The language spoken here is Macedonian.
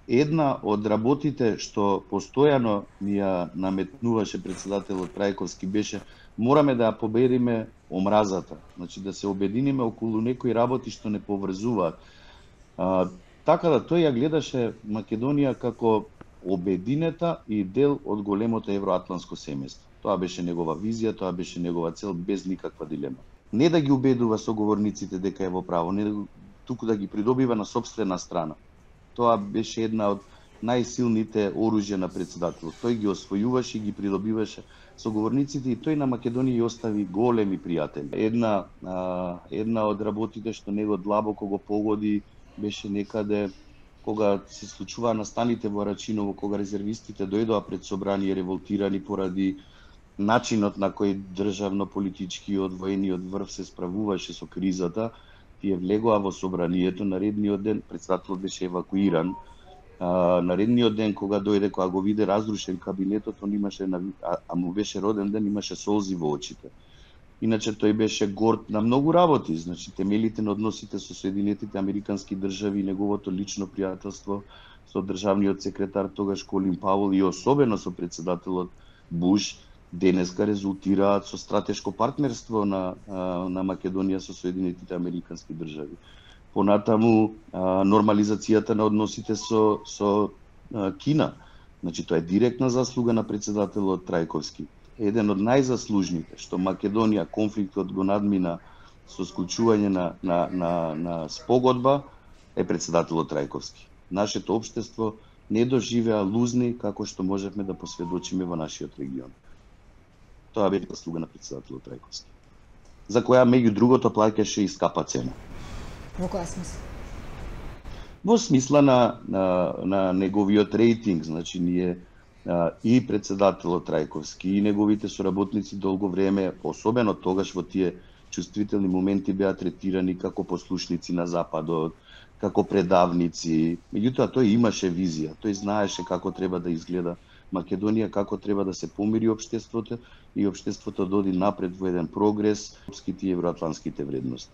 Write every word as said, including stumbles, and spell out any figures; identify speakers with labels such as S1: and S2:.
S1: Една од работите што постојано ми ја наметнуваше председателот Трајковски беше мораме да ја победиме омразата. Значи да се обединиме околу некои работи што не поврзуваат. А, така да тој ја гледаше Македонија како обединета и дел од големото евроатланско семејство. Тоа беше негова визија, тоа беше негова цел без никаква дилема. Не да ги убедува соговорниците дека е во право, не туку да ги придобива на сопствена страна. Тоа беше една од најсилните оружја на председателот. Тој ги освојуваше и ги придобиваше соговорниците и тој на Македонија остави големи пријатели. Една а, една од работите што него длабоко го погоди беше некаде кога се случува настаните во Рачиново, кога резервистите дојдоа пред собрание револтирани поради начинот на кој државно-политичкиот воениот врв се справуваше со кризата. Тие влегоа во собранието наредниот ден, председателот беше евакуиран. А, наредниот ден кога дојде, кога го виде разрушен кабинетот, он имаше, а, а му беше роден ден, имаше солзи во очите. Иначе тој беше горд на многу работи, значи темелите на односите со Соединетите Американски држави и неговото лично пријателство со државниот секретар тогаш Колин Пауел и особено со председателот Буш денеска резултираат со стратешко партнерство на, на Македонија со Соединетите Американски држави. Понатаму нормализацијата на односите со, со Кина. Значи тоа е директна заслуга на председателот Трајковски. Еден од најзаслужните што Македонија конфликтот го надмина со склучување на, на, на, на спогодба е председателот Трајковски. Нашето општество не доживеа лузни како што можевме да посведочиме во нашиот регион. Тоа беше заслуга на председателот Трајковски, за која меѓу другото плаќаше и скапа цена.
S2: Во која смисла?
S1: Во смисла на, на, на неговиот рейтинг, значи ние а, и председателот Трајковски и неговите соработници долго време, особено тогаш во тие чувствителни моменти, беа третирани како послушници на Западот, како предавници. Меѓутоа тој имаше визија, тој знаеше како треба да изгледа Македонија, како треба да се помири општеството и општеството да оди напред во еден прогрес, европските и евроатланските вредности.